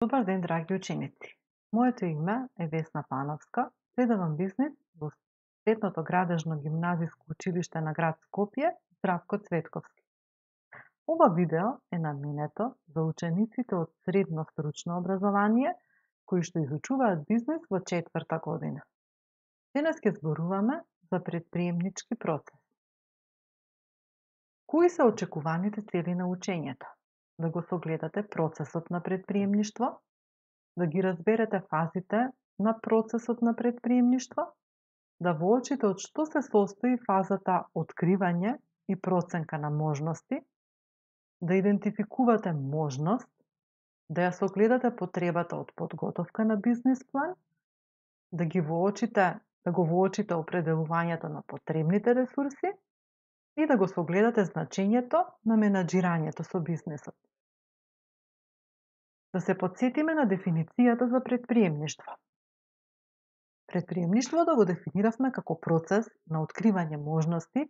Добар ден, драги ученици! Моето име е Весна Пановска, предавам бизнис во Средното градежно гимназиско училиште на град Скопје, Здравко Цветковски. Ова видео е наменето за учениците од средно стручно образование кои што изучуваат бизнис во 4-та година. Денес ќе зборуваме за предприемнички процес. Кои се очекуваните цели на учењето? Да го согледате процесот на предприемништво, да ги разберете фазите на процесот на предприемништво, да воочите од што се состои фазата откривање и проценка на можности, да идентификувате можност, да ја согледате потребата од подготовка на бизнис план, да го воочите определувањето на потребните ресурси и да го согледате значењето на менаџирањето со бизнисот. Да се потсетиме на дефиницијата за предприемништво. Предприемништвото го дефиниравме како процес на откривање можности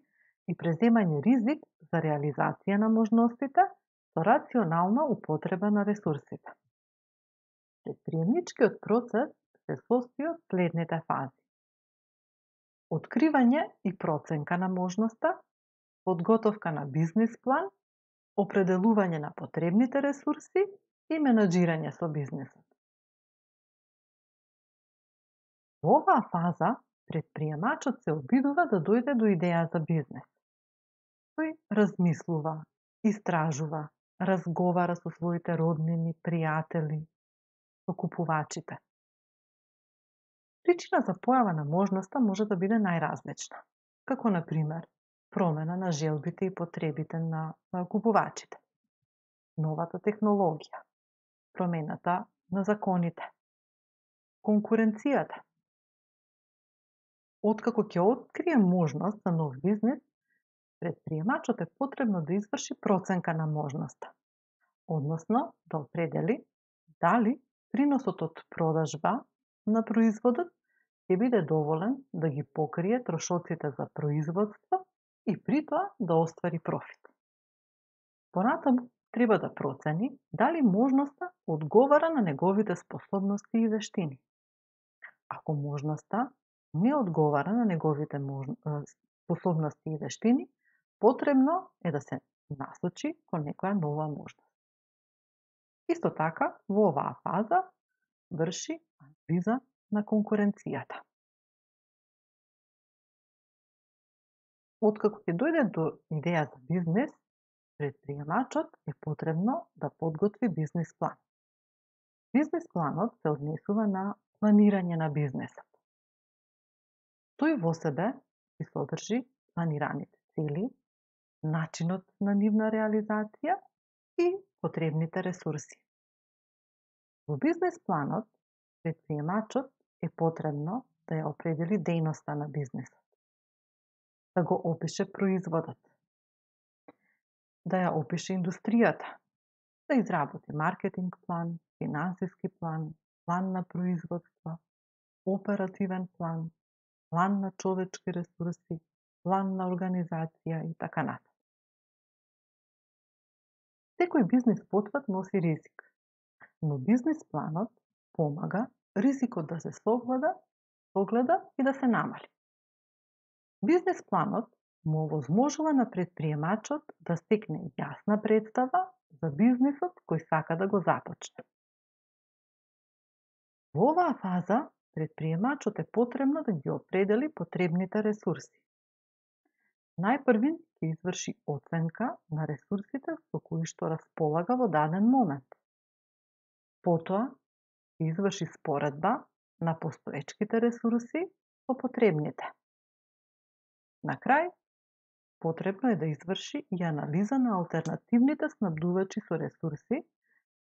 и преземање ризик за реализација на можностите со рационална употреба на ресурсите. Предприемничкиот процес се состои од следните фази: откривање и проценка на можноста, подготовка на бизнис план, определување на потребните ресурси и менаџирање со бизнисот. Во оваа фаза, предприемачот се обидува да дојде до идеја за бизнес. Тој размислува, истражува, разговара со своите роднини, пријатели, со купувачите. Причина за појава на можноста може да биде најразлична, како на пример промена на желбите и потребите на купувачите, новата технологија, промената на законите, конкуренцијата. Откако ќе открие можност за нов бизнис, предприемачот е потребно да изврши проценка на можноста, односно да определи дали приносот од продажба на производот ќе биде доволен да ги покрие трошоците за производство и при тоа да оствари профит. Понатаму треба да процени дали можноста одговара на неговите способности и вештини. Ако можноста не одговара на неговите способности и вештини, потребно е да се насочи кон некоја нова можност. Исто така, во оваа фаза врши анализа на конкуренцијата. Откако ќе дојде до идеја за бизнес, предприемачот е потребно да подготви бизнис план. Бизнис планот се однесува на планирање на бизнесот. Тој во себе ќе содржи планираните цели, начинот на нивна реализација и потребните ресурси. Во бизнис планот, предприемачот е потребно да ја определи дејноста на бизнисот, да го опише производот, да ја опише индустријата, да изработи маркетинг план, финансиски план, план на производство, оперативен план, план на човечки ресурси, план на организација и така натаму. Секој бизнис потват носи ризик, но бизнис планот помага ризикот да се согледа и да се намали. Бизнис планот му овозможува на предприемачот да стекне јасна представа за бизнисот кој сака да го започне. Во оваа фаза, предприемачот е потребно да ги определи потребните ресурси. Најпрвин ќе изврши оценка на ресурсите со кои што располага во даден момент. Потоа ќе изврши споредба на постоечките ресурси со потребните. На крај, потребно е да изврши и анализа на алтернативните снабдувачи со ресурси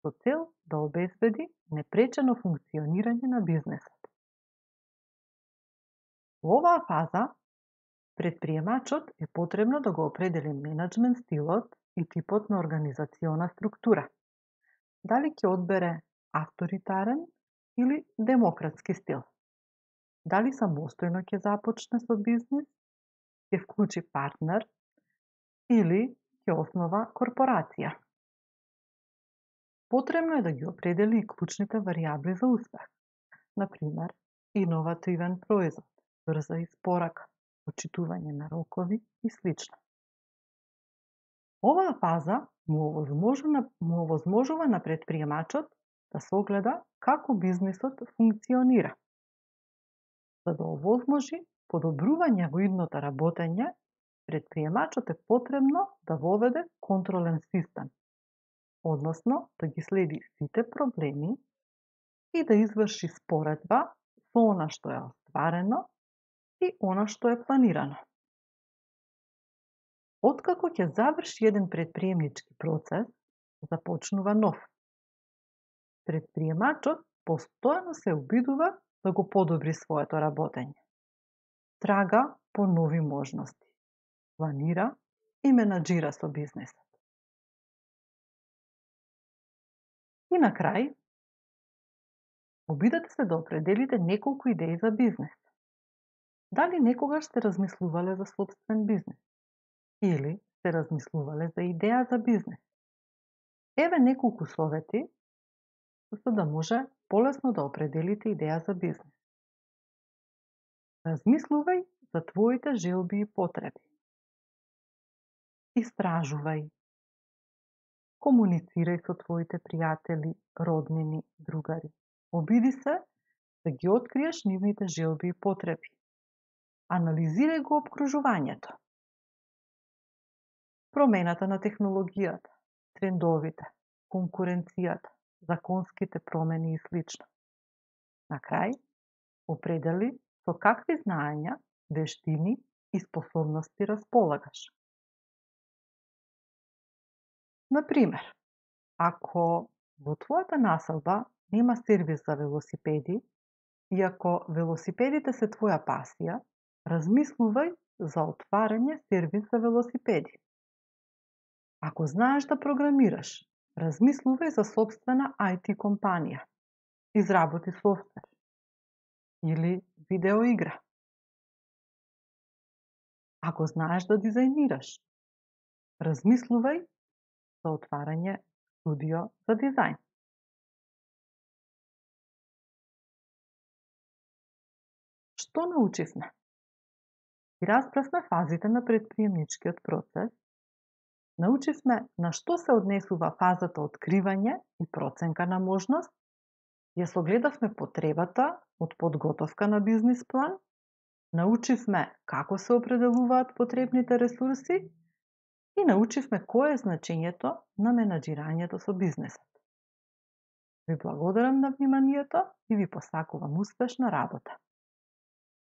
со цел да обезбеди непречено функционирање на бизнесот. Во оваа фаза, предприемачот е потребно да го определи менаџмент стилот и типот на организациона структура. Дали ќе одбере авторитарен или демократски стил? Дали самостојно ќе започне со бизнис, ќе вклучи партнер или ќе основа корпорација? Потребно е да ги определи и клучните варијабли за успех. Например, иновативен производ, брза испорака, почитување на рокови и слично. Оваа фаза му овозможува на претприемачот да согледа како бизнисот функционира. За да овозможи подобрување во идното работење, претприемачот е потребно да воведе контролен систем, односно да ги следи сите проблеми и да изврши споредба со она што е остварено и она што е планирано. Откако ќе заврши еден претприемнички процес, започнува нов. Претприемачот постојано се обидува да го подобри своето работење. Трага по нови можности, планира и менаџира со бизнисот. И на крај, обидете се да определите неколку идеи за бизнис. Дали некогаш сте размислувале за сопствен бизнис? Или сте размислувале за идеја за бизнис? Еве неколку совети за да може полесно да определите идеја за бизнис. Размислувај за твоите желби и потреби. Истражувај. Комуницирај со твоите пријатели, роднини, другари. Обиди се да ги откриеш нивните желби и потреби. Анализирај го опкружувањето. Промената на технологијата, трендовите, конкуренцијата, законските промени и слично. На крај, определи со какви знаења, вештини и способности располагаш. Например, ако во твојата населба нема сервис за велосипеди и ако велосипедите се твоја пасија, размислувај за отварање сервис за велосипеди. Ако знаеш да програмираш, размислувај за сопствена IT компанија, изработи софтвер или видеоигра. Ако знаеш да дизајнираш, размислувај за отварање студио за дизајн. Што научивме? И разбравме фазите на претприемничкиот процес. Научивме на што се однесува фазата откривање и проценка на можност. Ја согледавме потребата од подготовка на бизнис план. Научивме како се определуваат потребните ресурси и научивме кое е значењето на менаџирањето со бизнисот. Ви благодарам на вниманието и ви посакувам успешна работа.